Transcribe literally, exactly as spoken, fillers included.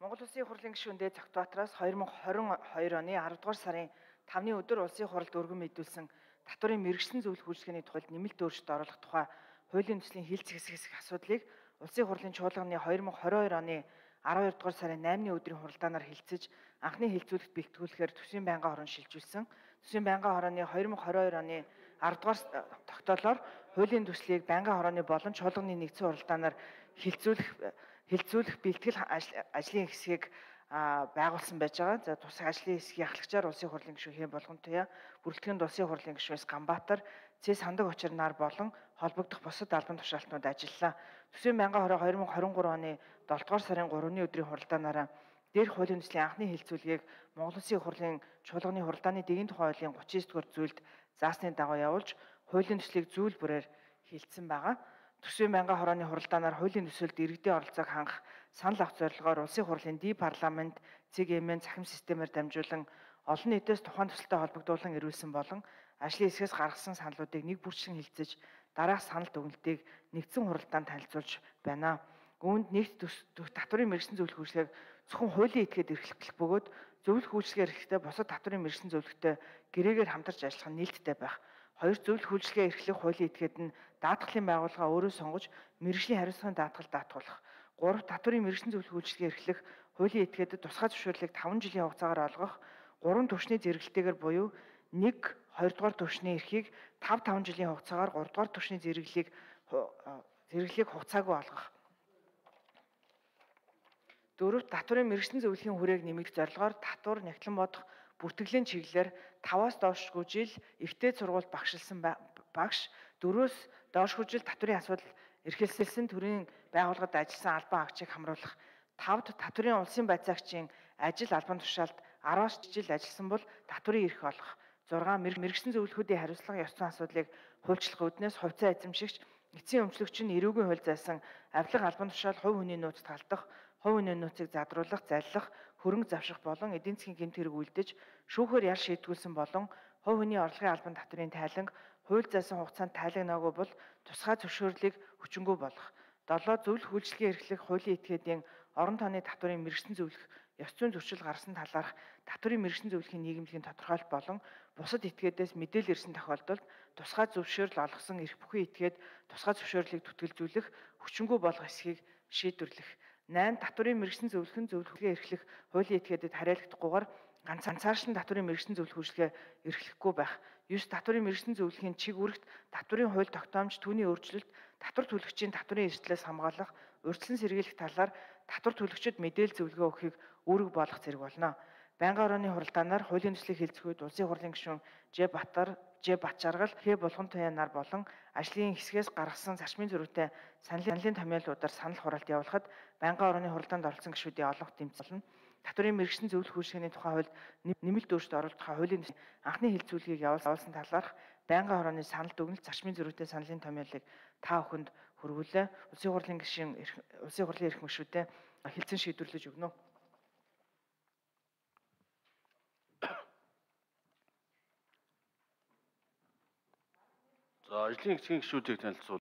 Монгол Улсын их хурлын гишүүн Дээд Цогтбаатараас хоёр мың хорин хоёр оны аравдугаар сарын тавны өдөр Улсын хуралд өргөн мэдүүлсэн татварын мэргэжлийн зөвлөх үйлчлэгээний тухайд нэмэлт өөрчлөлт оруулах тухай хуулийн төслийн хилцэх хэсэг хэсэг асуудлыг Улсын хурлын чуулганы хоёр мың хорин хоёр оны аравдугаар дугаар сарын наймны өдрийн хуралдаанаар хилцэж анхны хилцүүлэгт бэлтгүүлэхээр төсвийн байнгын хорон шилжүүлсэн. Төсвийн байнгын хорооны хоёр мың хорин хоёр оны аравдугаар тогтоолоор хуулийн төслийг байнгын хорооны болон чуулганы нэгдсэн хуралдаанаар хилцүүлэх хилцүүлэх бэлтгэл ажлын хэсгийг байгуулсан байж байгаа. За тусах ажлын хэсгийн ахлагчаар Улсын хурлын гишүүн Хэн Болгонтуяа, бүрэлдэхүүн Улсын хурлын гишүүн Ганбаатар, Цэс Сандаг Очир нар болон холбогдох бусад албан тушаалтнууд ажиллалаа. Төсвийн байнгын хороо хоёр мың хорин гурван оны долдугаар сарын гуравны өдрийн хуралдаанаараа дээрх хуулийн төслийн анхны хилцүүлгийг Монгол Улсын их хурлын чуулганы хуралдааны дэгийн тухай хуулийн гучин девять дугаар зүйлд заасны дагуу явуулж хуулийн төслийг зүйл бүрээр хилцсэн байгаа. Төсвийн байнгын хорооны хуралдаанаар хуулийн төсөлд иргэдийн оролцоог хангах санал авах зорилгоор Улсын хурлын ди парламент, цэг эмийн цахим системээр дамжуулан олон нийтээс тухайн төсөлтэй холбогдуулан ирүүлсэн болон ажлын хэсгээс гаргасан саналуудыг нэг бүрчлэн хилцэж дараах санал дүгнэлтийг нэгдсэн хуралдаанд танилцуулж байна. Үүнд нэгт татварын мэргэжлийн зөвлөх үйлчлэгийг зөвхөн хуулийн этгээд эрхлэх бөгөөд зөвлөх үйлчлэгээр эрхлэхдээ бусад татварын мэргэжлийн зөвлөхтэй гэрээгээр хамтарч ажиллах нь нээлттэй байх. Хоёр зөвлөх үйлчлэгээ эрхлэх хуулийн этгээд нь даатгалын байгууллага өөрөө сонгож мэргэжлийн хариуцлагын даатгал даатгуулах. Гурав татварын мэргэжлийн зөвлөх үйлчлэгээ эрхлэх хуулийн этгээдэд тусгай зөвшөөрлийг таван жилийн хугацаагаар олгох. Гурван түвшний зэрэгэлтэйгээр буюу нэг хоёр дугаар түвшний эрхийг тав таван жилийн хугацаагаар гурав дугаар түвшний зэрэглэлийг зэрэглэлийг хугацаагүй олгох. Дөрөв татварын мэргэжлийн зөвлөхийн хүрээг нэмэгдэх зорилгоор татвар нягтлан бодох бүртгэлийн чиглэлээр таваас доошгүй жил ихтэй сургуульд багшилсан багш, дөрвөөс доошгүй жил татварын асуудал эрхэлсэн төрийн байгууллагад ажилласан албан агчийг хамруулах. Тавд татварын улсын байцаагчийн ажил албан тушаалд араас жил ажилласан бол татварын эрх олгох. зургаан мэргэжлийн зөвлөхүүдийн хариуцлага ёс зүйн асуудлыг хуульчлах үүднээс хувьцаа эзэмшигч, эцсийн өмчлөгч нь эрүүгийн хууль зайсан авилга албан тушаал хувь хүний нууц талдах, хувь хүний нууцыг задруулах, заллах, хөрөнгө завших болон эдийн засгийн гэмт хэрэг үлдэж шүүхээр ял шийдгүүлсэн болон хувь хүний орлогын албан татврын тайланг хууль зайсан хугацаанд тайлагнаагүй бол тусгай зөвшөөрлийг хүчингүй болгох. долоо зөвлөх үйлчлэгээ эрхлэх хуулийн этгээдийн орон тооны татварын мэргэжлийн зөвлөх ёс зүйн зөрчил гарсан талаарх татварын мэргэжлийн зөвлөхийн нийгэмлэгийн тодорхойлт болон бусад этгээдээс мэдээлэл ирсэн тохиолдолд тусгай зөвшөөрөл олгосон эрх бүхий этгээд тусгай зөвшөөрлийг түтгэлзүүлэх, хүчингүй болгох эсхийг шийдвэрлэх. найм татварын мэргэжлийн зөвлөхөн зөвлөхөө эрхлэх хуулийн этгээдэд хариалагдахгүйгээр ганцаарчлан татварын мэргэжлийн зөвлөх үйлчлэгээ эрхлэхгүй байх. девять татварын мэргэжлийн зөвлөхийн чиг үүрэгт татварын хууль тогтоомж түүний өөрчлөлт татвар төлөгчийн татварын эрсдлээс хамгаалах, урьдчилан сэргийлэх талаар татвар төлөгчид мэдээлэл зөвлөгөө өгөхийг үүрэг болгох зэрэг болно. Байнгын хорооны хуралдаанаар хуулийн төслийг хэлцэх үед Улсын хурлын гишүүн Ж Батар, Ж Батчаргал, Хэн Болгонтуяа нар болон ажлын хэсгээс гаргасан зарчмын зөрүүтэй саналын томьёолуудаар санал хураалт явуулахад байнгын хорооны хуралдаанд оролцсон гишүүдийн олонх тэмцэлнэ. Татварын мэргэжлийн зөвлөх үйлчлэгээний тухай хууль нэмэлт өөрчлөлт оруулах тухай хуулийн анхны хилцүүлгийг явуулсан талаарх байнгын хорооны санал дүгнэлт зарчмын зөрүүтэй саналын томьёолыг та бүхэнд хүргүүлээ. Улсын хурлын гишүүн Улсын хурлын эрх гишүүдэд хэлцэн шийдвэрлэж өгнө. За ажлын хэсгийн гишүүдийг танилцуул.